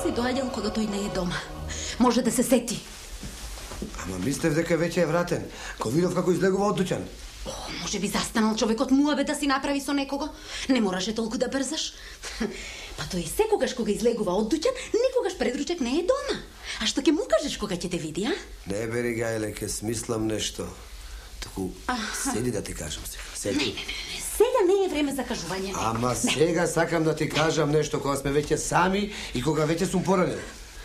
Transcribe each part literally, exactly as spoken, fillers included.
си доаѓал кога тој не е дома. Може да се сети. Ама мислев дека веќе е вратен. Ко видов како излегува од дуќан. О, може би застанал човекот муабе да си направи со некого. Не мораше толку да брзаш. Па тој секогаш кога излегува од дуќан, никогаш предручек не е дома. А што ќе му кажеш кога ќе те види, а? Не бери гајле, ке смислам нешто. Таку, седи да ти кажам сега. Седи. Не, не, не, сега не е време за кажување. Ама сега сакам да ти кажам нешто кога сме веќе сами и кога веќе сум поранен.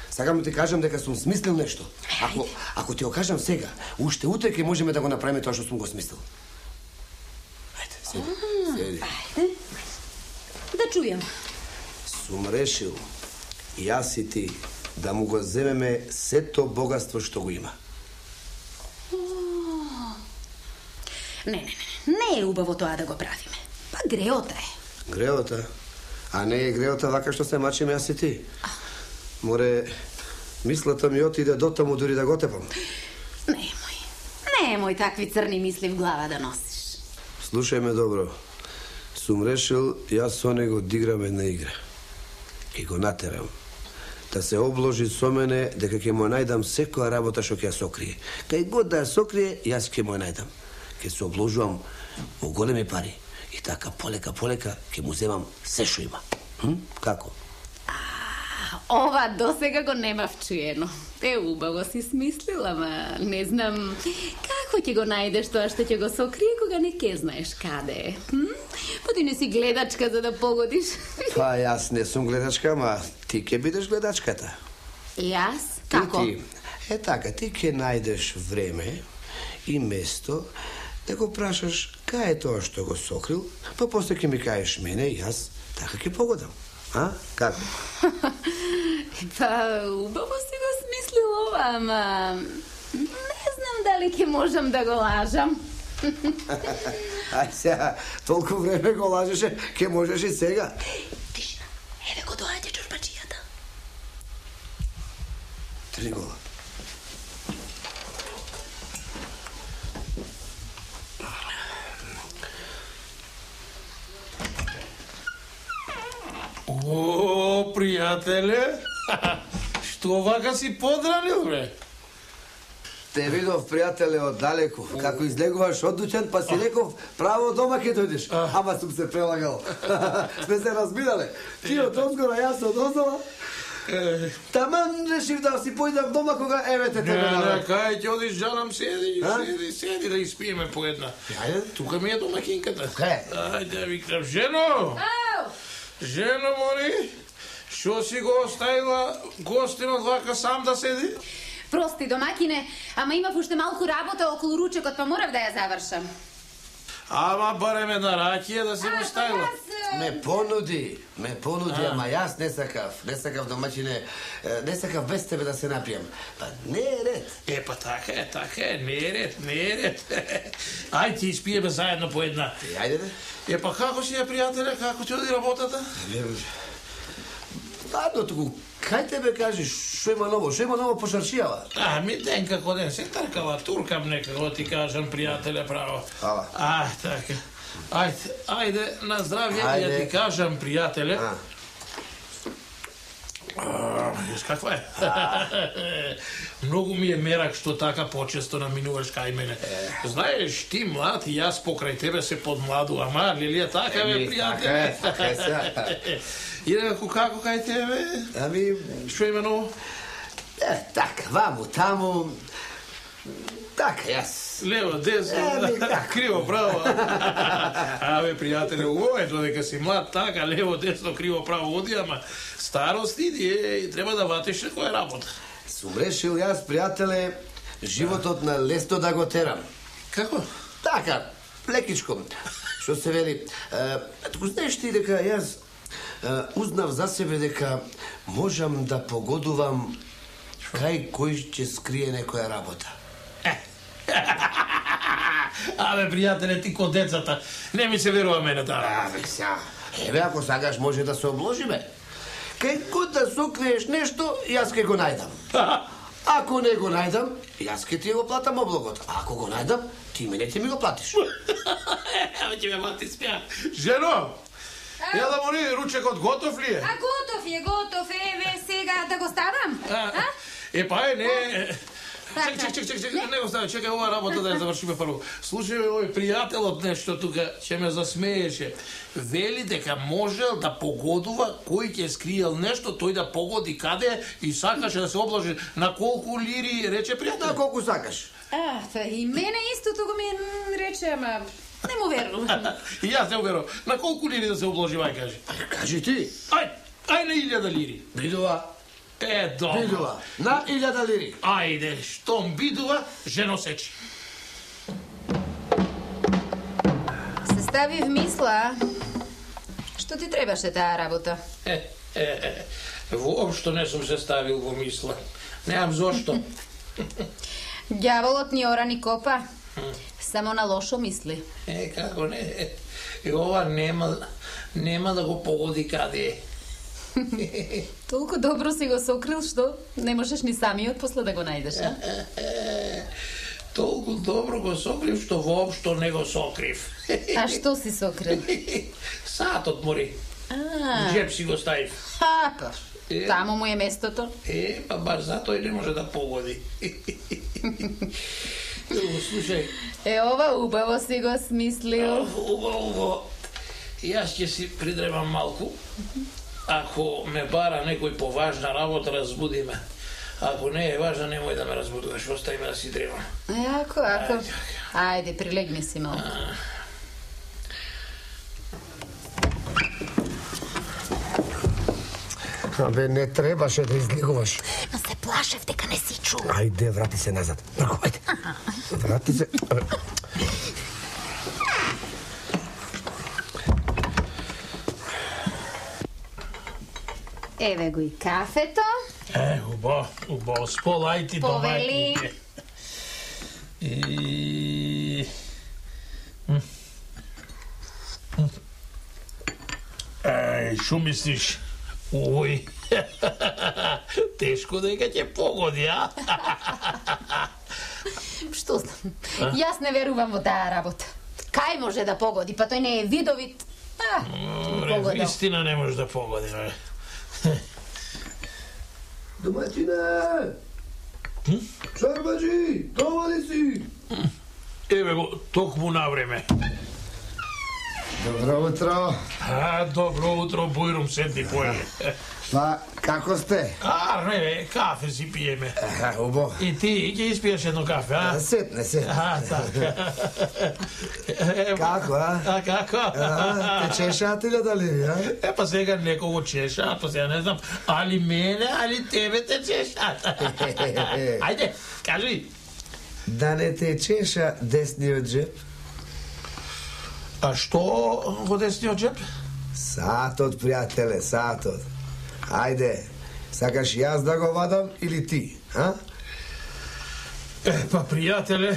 Сакам да ти кажам дека сум смислил нешто. Ако ако ти го кажам сега, уште утре ќе можеме да го направиме тоа што сум го смислил. Ајде, седи. Седи. Ајде. Да чујам. Сум решил, јас и ти, да му го земеме сето богатство што го има. Не, не, не, не е убаво тоа да го правиме. Па греота е. Греота? А не е греота вака што се мачиме јас и ти. Море, мислата ми отиде до таму дури да го тепам. Немој. Немој такви црни мисли в глава да носиш. Слушај ме добро. Сум решил јас со него да играм една игра. И го натерам да се обложи со мене дека ќе му најдам секоја работа што ќе ја сокрие. Кај год да ја сокрие, јас ќе му ја најдам. Ќе се обложувам во големи пари и така полека полека ќе му земам се што има. Hm? Како? Ова досега го немав чуено. Те убаво си смислила, ма не знам како ќе го најдеш тоа што ќе го сокрие кога не ке знаеш каде е. Hm? Па ти не си гледачка за да погодиш. Па јас не сум гледачка, ма ти ќе бидеш гледачката. Јас? Како? Ти, е така, ти ќе најдеш време и место да го прашаш кај е тоа што го сокрил, па после ќе ми кажеш мене и јас така ќе погодам. А? Како? Па, убаво си го смислил ова, ама не знам дали ќе можам да го лажам. Ај сега, толку време го лажеше, ќе можеш и сега. Тишина, еве го доаѓа чорбаджијата. Три гола. О, пријателе, што вака си подранил, бре? Те видов, пријателе, оддалеку, како излегуваш од дуќан, па си реков, право дома ќе дојдеш. Ама сум се прелагал. Сме се разбирале. Ти од озгора, јас од оздола. Таман решив да си појдам дома кога еве те тебе Не, не, навек. кај ќе одиш, жанам, седи, А? седи, седи да испиеме по една. Ајде. Тука ми е домакинката. Кај? Ајде, викнам, жено! Ау! Жено, моли, што си го оставила гостинот вака сам да седи? Прости, домакине, ама имав уште малку работа околу ручекот, па морав да ја завршам. Ама барем една ракија да се го ставила. Ме понуди, ме понуди, ама јас не сакав, не сакав домачине, е, не сакав без тебе да се напијам. Па не е ред. Е, па така е, така е, не е ред, не е ред. Ајде ти испиеме заедно по една. Е, ајде де. Е, па како си ја, пријателе, како ти оди работата? Ладно, туку, кај тебе кажеш, шо има ново, шо има ново по шаршијава? А, ми ден како ден се тркала, туркам некако ти кажам, пријателе, право. Ала. А, така. Ајде, ајде, на здравје, Ајде. ја ти кажам, пријателе. А. А, Виж каква е? Многу ми е мерак што така почесто наминуваш кај мене. Знаеш, ти млад и јас покрај тебе се подмладу, ама Лилија така бе, Еми, така е, пријателе. така е сега. Инаку како кај тебе? Ами, Што има ново? е, така, ваму, таму, така, јас. Лево, десно, Еми, така. криво, право. Абе, пријателе, убаво е додека си млад, така, лево, десно, криво, право оди, ама старост иди и треба да ватиш некоја работа. Сум решил јас, пријателе, животот на лесно да го терам. Како? Така, лекичко, што се вели. Е, туку знаеш ти дека јас е, узнав за себе дека можам да погодувам кај кој ќе скрие некоја работа. Абе, пријателе, ти ко децата, не ми се верува мене таа. Абе, сега, еве, ако сакаш може да се обложиме. Кај год да сокриеш нешто, јас ќе го најдам. Ако не го најдам, јас ќе ти го платам облогот. А ако го најдам, ти мене ќе ми го платиш. Абе, ќе ме мати спја. Жено! Ја да моли, ручекот готов ли е? А готов е, готов, еве сега да Е, па е, не... Чек, чек, чек, чек, чек, не го стави, чекај ова работа да ја завршиме прво. Слушај, овој пријателот нешто тука, ќе ме засмееше. Вели дека можел да погодува кој ќе скриел нешто, тој да погоди каде и сакаше да се обложи на колку лири, рече пријател. На колку сакаш. А, па и мене истото го ми рече, ама не му верувам. И јас не верувам. На колку лири да се обложи, ај кажи. Кажи ти. Ај, ај на илјада лири. Бидува. Е, добро. Бидува. На илјада лири. Ајде, штом бидува, жено сечи. Се стави в мисла. Што ти требаше таа работа? Е, е, е, воопшто не сум се ставил во мисла. Неам зошто. Ѓаволот ни ора ни копа. Само на лошо мисли. Е, како не. И ова нема, нема да го погоди каде е. Толку добро си го сокрил, што не можеш ни самиот после да го најдеш, а? Толку добро го сокрив, што воопшто не го сокрив. А што си сокрил? Сатот мори. А, Джеб си го ставив. а, па, Е. таму му е местото. Е, па баш затоа и не може да погоди. Слушај, Е, ова убаво си го смислил. убаво, убаво. Јас ќе си придребам малку. Ако ме бара некој поважна работа, разбуди ме. Ако не е важна, немој да ме разбудуваш. Остави ме да си древам. Ако, ако. Ајде, прилегни си малку. Абе, не требаше да излегуваш. Ма се плашев дека не си чул. Ајде, врати се назад. Брко, ајде. Врати се. Еве го и кафето. Е, убаво, убаво. Сполај ти Повели. домаќините. И... Еј, шо мислиш? Ој, тешко дека ќе погоди, а? Што знам? Јас не верувам во таа работа. Кај може да погоди? Па тој не е видовит. А, погодил. Вистина не може да погоди, бе. Домаќине! Чорбаджи, дома ли си? Еве го, токму на време. Добро утро. А, добро утро, Бујрум, седни појде. Па, како сте? А, не, бе, кафе си пиеме. Аха, убаво. И ти ќе испиеш едно кафе, а? Сетне, сетне. А, така. Како, а? А, како? А, те чешаат или дали, а? Е, па сега некого чеша, па сега не знам, али мене, али тебе те чешат. Ајде, кажи. Да не те чеша десниот джеб? А што во десниот джеб? Сатот, пријателе, сатот. Ајде, сакаш јас да го вадам или ти, а? Е, па, пријателе,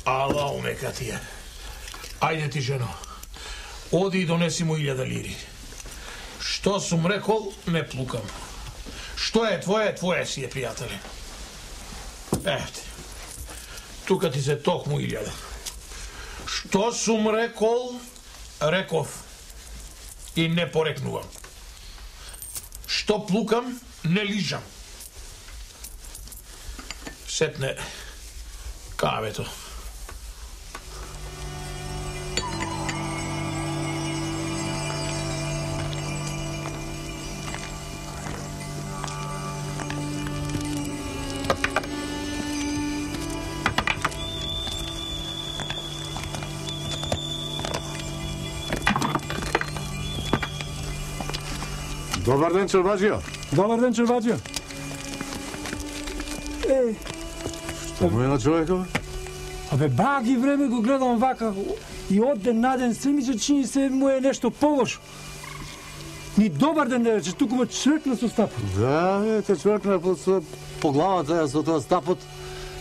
ала умека ти е. Ајде ти, жено, оди и донеси му илјада лири. Што сум рекол, не плукам. Што е твое, твое си е, пријателе. Ете, тука ти се токму илјада. Што сум рекол, реков. И не порекнувам. Што плукам, не лижам. Сетне кавето. Добар ден, Чорбаджио. Добар ден, Чорбаджио. Е, Што му е на човекот? абе, баги време го гледам вака и од ден на ден се ми се чини се му е нешто полошо. Ни добар ден не рече, туку ме чркна со стапот. Да, е, те човекна по, по главата ја со тоа стапот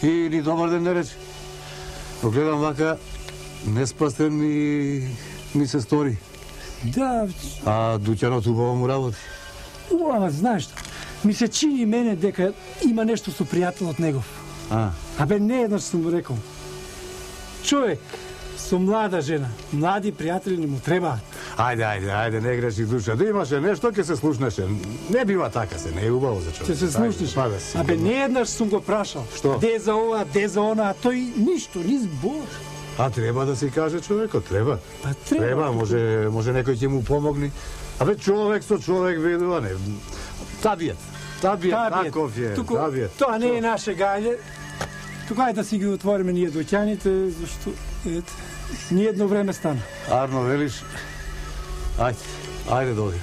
и ни добар ден не рече. Го гледам вака, неспасен и ми се стори. Да, А дуќанот убаво му работи. у, ама знаеш што, ми се чини мене дека има нешто со пријателот негов. А, Абе, не еднаш сум му рекол. Човек, со млада жена, млади пријатели не му требаат. Ајде, ајде, ајде, не греши душа. Да имаше нешто, ќе се слушнеше. Не бива така се, не е убаво за човек. Ќе се слушнеш. Абе, не еднаш сум го прашал. Што? Де за ова, де за она, а тој ништо, ни збор. А треба да си каже човекот, треба. Па треба. Треба, може, може некој ќе му помогне. Абе, човек со човек видува, не. Табиет, табиет, таков е, табиет. Тоа не е наше гајле. Тука е да си ги отвориме ние доќаните, зашто ете, ни едно време стана. Арно, велиш, ајде, ајде дојди.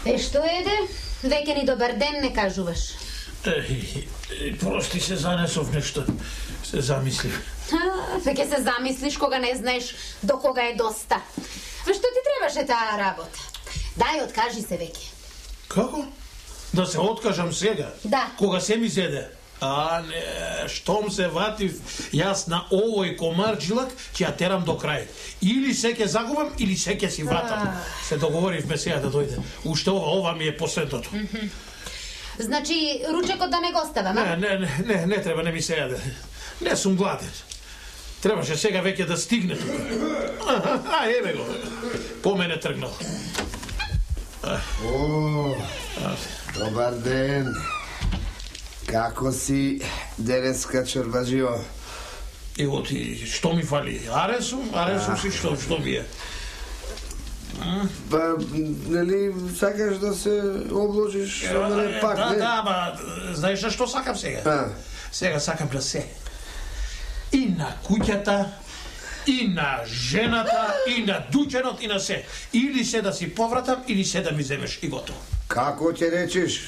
Е, што еде? Веќе ни добар ден не кажуваш. Еј, прости се занесов нешто. Се замислив. Веќе се замислиш кога не знаеш до кога е доста. Ве што ти требаше таа работа? Дај, откажи се веќе. Како? Да се откажам сега? Да. Кога се ми зеде? А, не, штом се ватив јас на овој комарджилак, ќе ја терам до крај. Или се ќе загубам, или се ќе си вратам. Се договоривме сега да дојде. Уште ова, ова ми е последното. Значи, ручекот да не го оставам, а? Не, не, не, не, не треба, не ми се јаде. Не сум гладен. Требаше сега веќе да стигне тука. А, а еве го. По мене тргнал. О, добар ден. Како си денеска, чорбаджио? Ево ти, што ми фали? Аре сум, аре сум си, што, што ми е? Па, нели, сакаш да се обложиш со мене пак, да, не? Да, ба, знаеш на што сакам сега? А. Сега сакам да се. И на куќата, и на жената, и на дуќанот, и на се. Или се да си повратам, или се да ми земеш и готово. Како ќе речиш?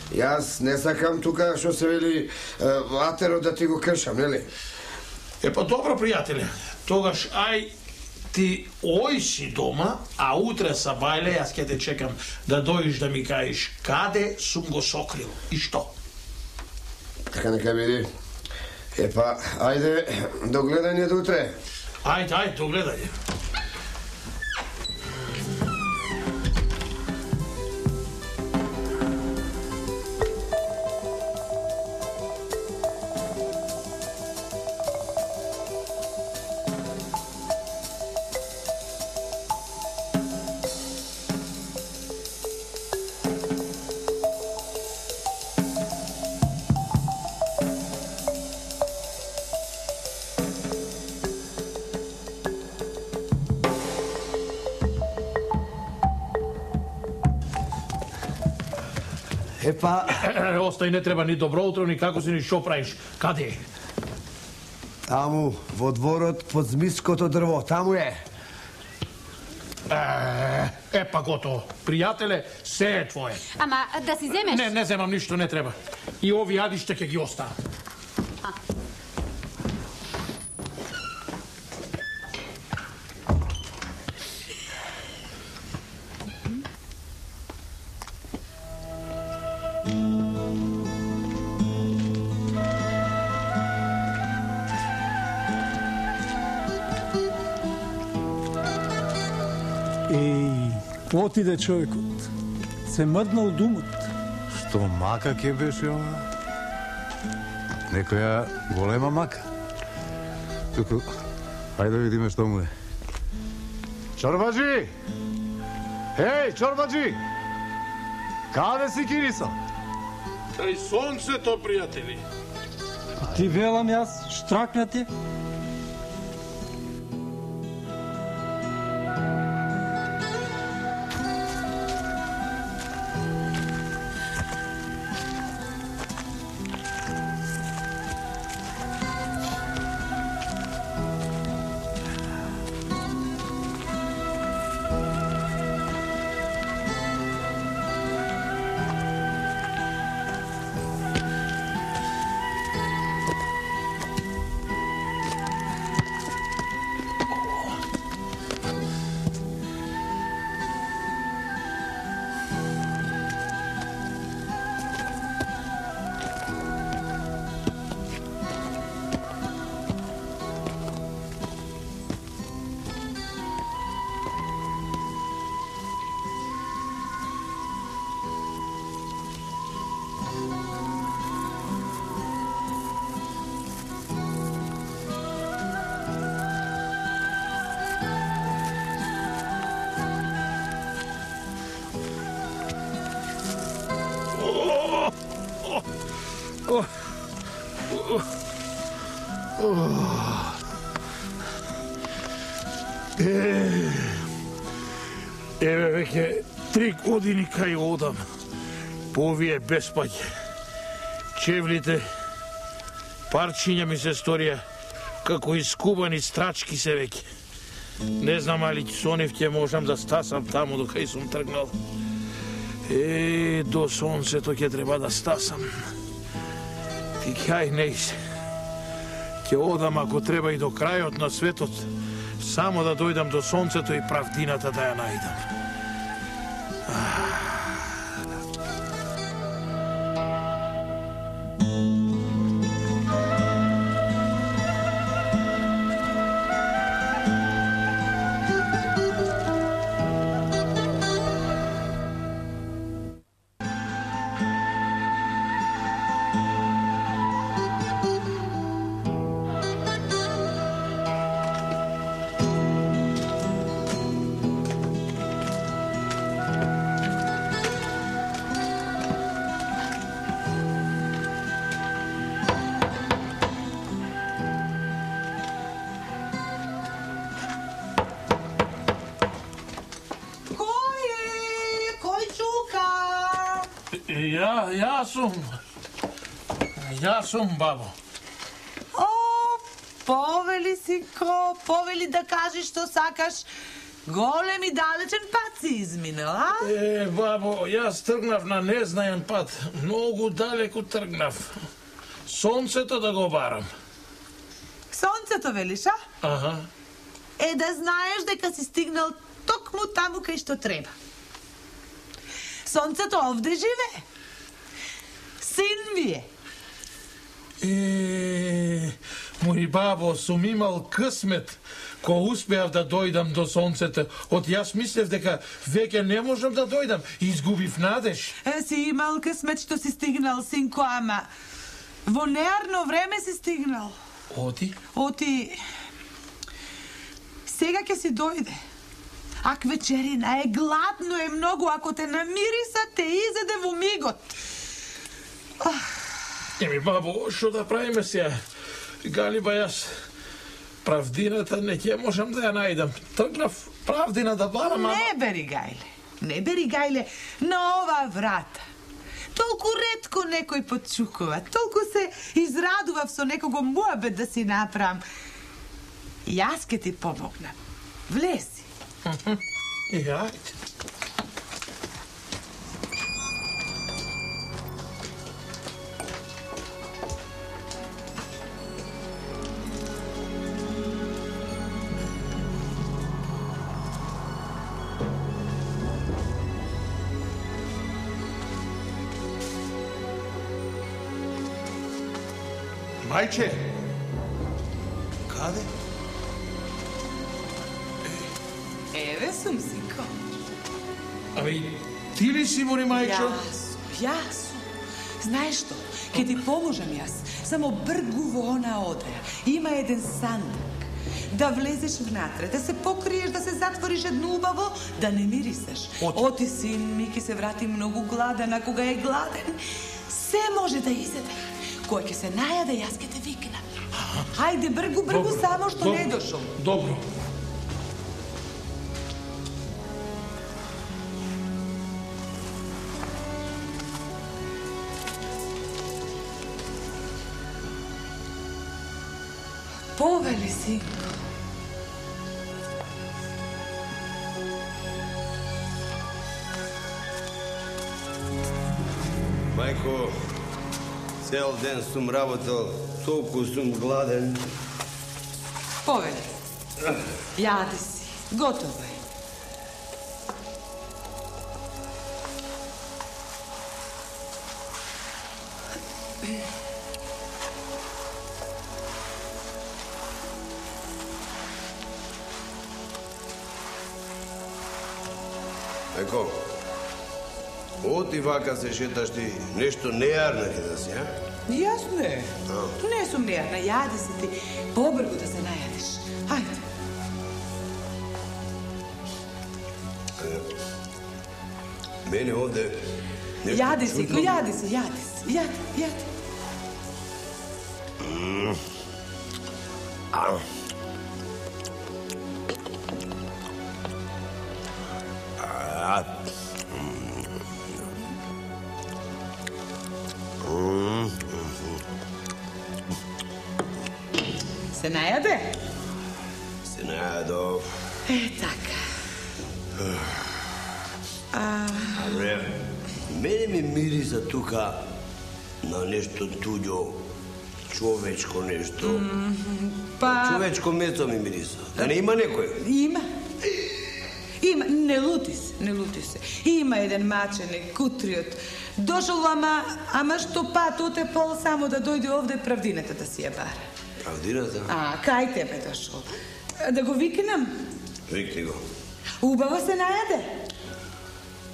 Јас не сакам тука што се вели атерот да ти го кршам, нели? Е, па добро, пријателе. Тогаш, ај, ти ој си дома, а утре са бајле, јас ќе те чекам да дојдеш да ми кажеш каде сум го сокрил и што. Така нека биде. Епа, ајде, до гледање до утре. Ајде, ајде, до гледање. Епа, Остај, не треба ни добро утро, ни како си, ни што правиш. Каде е? таму, во дворот, под змиското дрво, таму е. Е, па готово. Пријателе, се е твое. Ама, да си земеш? Не, не земам ништо, не треба. И ови јадиште ќе ги оставам. Еј, отиде човекот. Се мрднал думот. Што мака ќе беше ова? Некоја голема мака. Туку, ајде да видиме што му е. Чорбаджи! Еј, чорбаджи! Каде си, Кириса? Кај сонцето, пријатели. Ти велам јас, штракнати. Е, еве веќе три години кај одам. По овие беспаѓe. Чевлите, парчиња ми се сторија како искубани страчки се веќе. Не знам али со нив ќе можам да стасам таму до кај сум тргнал. Е, до сонцето ќе треба да стасам. Ти кај не се. Ќе одам ако треба и до крајот на светот, само да дојдам до сонцето и правдината да ја најдам. Ја, јас сум. Јас сум, бабо. О, повели, синко, повели да кажеш што сакаш. Голем и далечен пат си изминал, а? Е, бабо, јас тргнав на незнаен пат. Многу далеку тргнав. Сонцето да го барам. Сонцето велиш, а? Аха. Е, да знаеш дека си стигнал токму таму кај што треба. Сонцето овде живее. Син ми е. Е, мој бабо, сум имал късмет кога успеав да дојдам до сонцето. Од јас мислев дека веќе не можам да дојдам и изгубив надеж. Е, си имал късмет што си стигнал, синко, ама во неарно време си стигнал. Оти? Оти... Сега ќе си дојде. Ак вечерина е, гладно е многу, ако те намириса, те изеде во мигот. Еми, бабо, што да правиме сега? Галиба, јас правдината не ќе можам да ја најдам. Тргнав правдина да барам, ама... Не бери гајле, не бери гајле на ова врата. Толку ретко некој почукува, толку се израдував со некого муабет да си направам. Јас ке ти помогнам. Влези. И ајде. Мајче! Каде? Еве сум, синко. Ами, ти ли си, мори мајчо? Јас, јас. Знаеш што? Ке ти поможам јас. Само бргу во она одеја. Има еден сандак. Да влезеш внатре, да се покриеш, да се затвориш едно убаво, да не мирисаш. Оти. Оти, син ми, ке се врати многу гладен, а кога е гладен, се може да изеде. Кој ќе се најаде, јас ке те викнам. Хајде, бргу, бргу, Добро, само што добро, не дошол. Добро. Повели, синко. Мајко, цел ден сум работел, толку сум гладен. Повели. Јади си. Готово е. Мајко, оти вака се шеташ ти, нешто нејарна ќе да си, а? Јасно е. А. Не сум нејадна, јади си ти. Побргу да се најадиш. Хајде. Мене овде нешто Јади си, чудно- јади си, јади си. Јади, јади. А. А. Се најаде? Се најадов. Е, така. А... Абре, мене ми мириса тука на нешто туѓо, човечко нешто. Па... Човечко место ми мириса. Да не има некој? Има. Има, не лути се, не лути се. Има еден маченик, кутриот. Дошол, ама, ама што пат отепол само да дојде овде правдината да си ја бара. Правдината? А, кај тебе дошол? Да го викнам? Викни го. Убаво се најаде?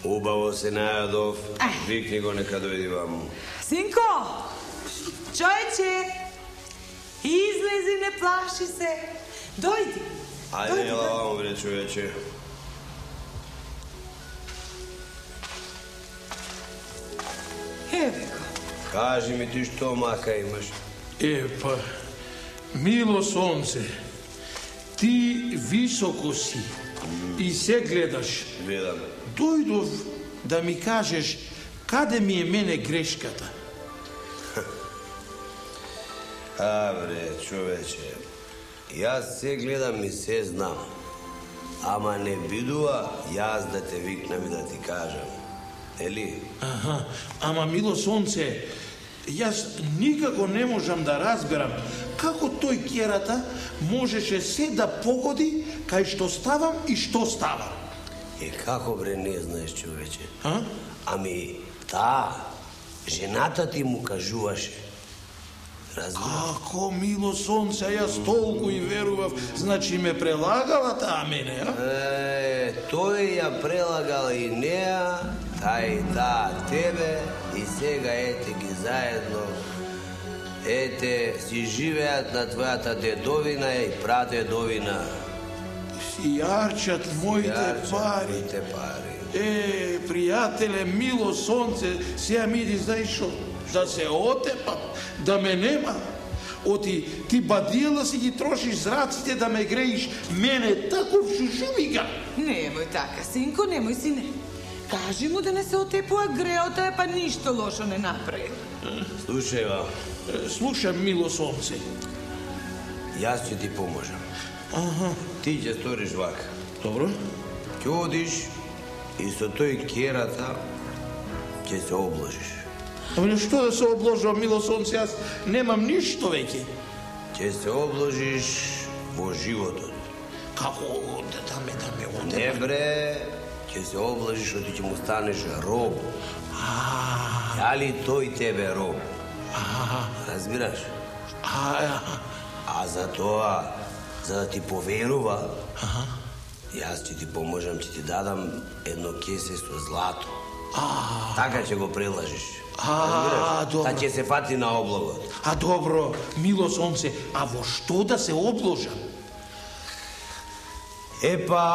Убаво се најадов. Ај. Викни го, нека дојди ваму. Синко! Чојче! Излези, не плаши се. Дојди. Ајде, ела ваму, бре, човече. Еве го. Кажи ми ти што мака имаш. Е, па, мило сонце, ти високо си и се гледаш. Гледам. Дојдов да ми кажеш каде ми е мене грешката. А, бре, човече, јас се гледам и се знам. Ама не бидува јас да те викнам и да ти кажам. Ели? Аха, ама мило сонце, јас никако не можам да разберам како тој керата можеше се да погоди кај што ставам и што ставам. Е, како бре не знаеш, човече? А? Ами, таа, жената ти му кажуваше. Разбираш? Како мило сонце, јас толку и верував, значи ме прелагала таа мене, а? Е, тој ја прелагал и неа, та и таа тебе, и сега ете ги заедно. Ете, си живеат на твојата дедовина и прадедовина. Си јарчат моите Јарчат пари. моите пари. Е, пријателе, мило сонце, сега ми иди, знаеш шо, да се отепам, да ме нема. Оти, ти бадијала си ги трошиш зраците да ме греиш, мене таков шушумига. Немој така, синко, немој, сине. Кажи му да не се отепува греота, па ништо лошо не направи. Слушај, ва, Е, слушам, мило сонце. јас ќе ти поможам. Аха, Ти ќе сториш вака. добро. Ќе одиш и со тој керата ќе се обложиш. Ама што да се обложувам, мило сонце, јас немам ништо веќе. Ќе се обложиш во животот. Како да, да ме, да ме отепа? Не бре, ќе се обложиш, оти ќе му станеш роб. А, Јали тој тебе роб? а, Разбираш? а, А за тоа, за да ти поверува, јас ќе ти поможам, ќе ти дадам едно кесе со злато. Така ќе го прелажиш. А, Разбираш? добро. Та ќе се фати на облогот. а добро, мило сонце, а во што да се обложам? Епа,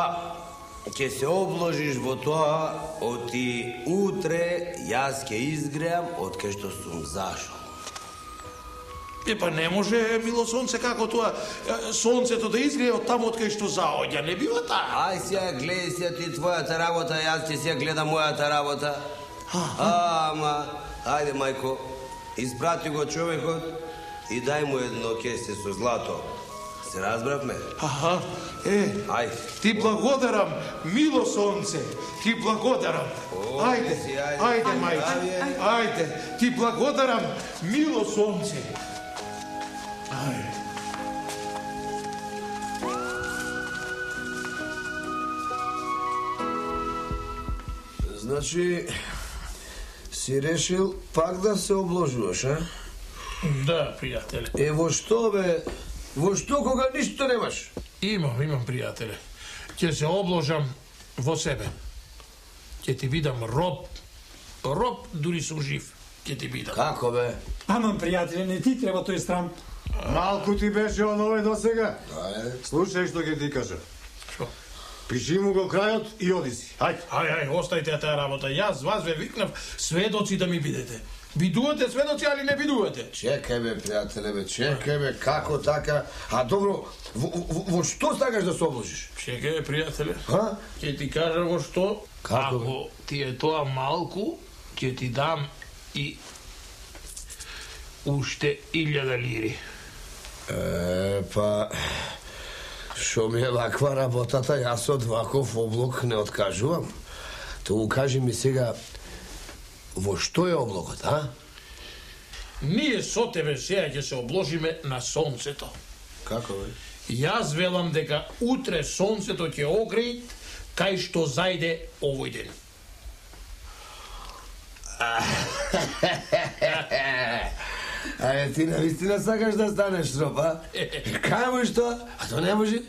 ќе се обложиш во тоа, оти утре јас ќе изгреам од кај што сум зашол. Е, па не може, мило сонце, како тоа е, сонцето да изгрее од таму од кај што заоѓа, не бива таа. Ај сега гледај сега ти твојата работа, јас ќе сега гледам мојата работа. Ама, ајде мајко, испрати го човекот и дај му едно кесе со злато. Се разбравме? Аха, е, Ајде. ти благодарам, мило сонце, ти благодарам. О, Ајде, си, ајде. ајде, мајче, Ајде. ајде, ти благодарам, мило сонце. Ајде. Значи, си решил пак да се обложуваш, а? Да, пријателе. Е, во што, бе? Во што кога ништо немаш? Имам, имам, пријателе. Ќе се обложам во себе. Ќе ти бидам роб. Роб, дури сум жив. Ќе ти бидам. Како, бе? Аман, пријателе, не ти треба тој срам. Малку ти беше он овој досега. Слушај што ќе ти кажа. Шо? Пиши му го крајот и оди си. Хајде. Ај, ај, остајте ја таа работа. Јас вас ве викнав сведоци да ми бидете. Бидувате сведоци, али не бидувате? Чекај бе, пријателе, бе, чекај бе, како така? А добро, во, во, во што сакаш да се обложиш? Чекај бе, пријателе. Ха? Ќе ти кажа во што. Како, Ако ти е тоа малку, ќе ти дам и уште илјада лири. Е, па... Шо ми е ваква работата, јас од ваков облог не откажувам. Тоа кажи ми сега, во што е облогот, а? Ние со тебе сега ќе се обложиме на сонцето. Како бе? Јас велам дека утре сонцето ќе огреи кај што зајде овој ден. Ајде, ти навистина сакаш да станеш троп, а? Кај можеш тоа? А тоа не може?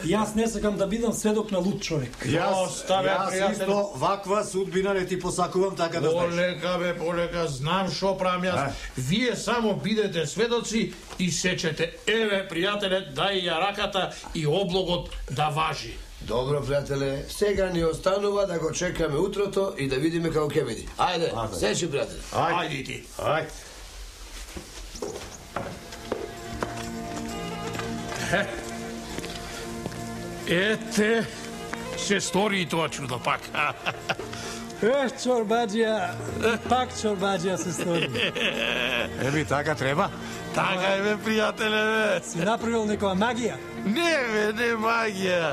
Јас не сакам да бидам сведок на луд човек. Јас, Оставе, јас пријателе. исто ваква судбина не ти посакувам, така да знаеш. Полека бе, полека, знам шо правам јас. А? Вие само бидете сведоци и сечете. Еве, пријателе, дај ја раката и облогот да важи. Добро, пријателе, сега ни останува да го чекаме утрото и да видиме како ќе биде. Ајде, сечи, пријателе. Ајди ти. Ајде. Ете, се стори и тоа чудо пак. Ех, чорбаџија, пак чорбаџија се стори. Еби, така треба. Така е, бе, пријателе, бе. Си направил некоја магија? Не, бе, не магија.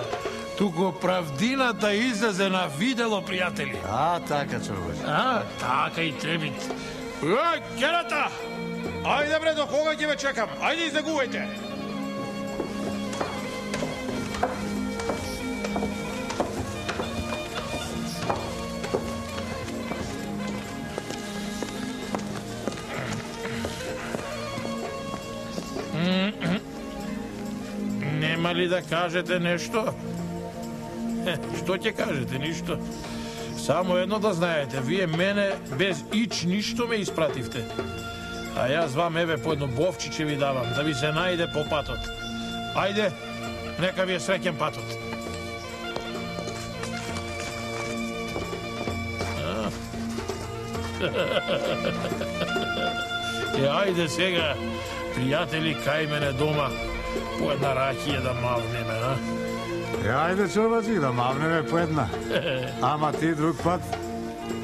Туку правдината излезе на видело, пријатели. А, така, човек. А, така и треби. Е, керата! Ајде, бре, до кога ќе ве чекам? Ајде, изнегувајте. Нема ли да кажете нешто? Што ќе кажете? Ништо. Само едно да знаете, вие мене без ич ништо ме испративте. А јас вам еве по едно бовчиче ви давам, да ви се најде по патот. Ајде, нека ви е среќен патот. Е, ајде сега, пријатели, кај мене дома, по една ракија да мавнеме, а? Е, ајде, човечи, да мавнеме по една. Ама ти друг пат,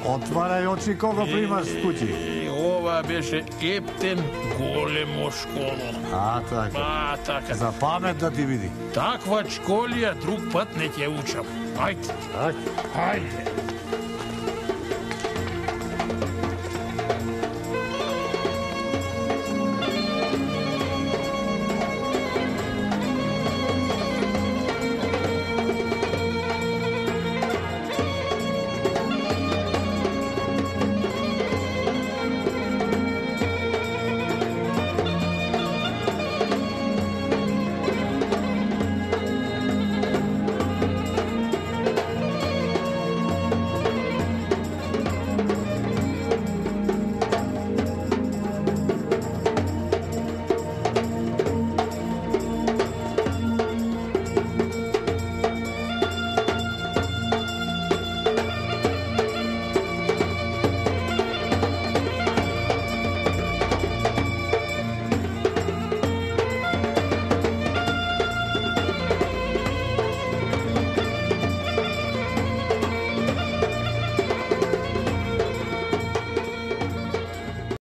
отварај очи кога примаш с куќи. Е, ова беше ептен големо школо. А, така. А, така. За памет да ти види. Таква школија друг пат не ќе учам. Ајде. Ајде. Ајде.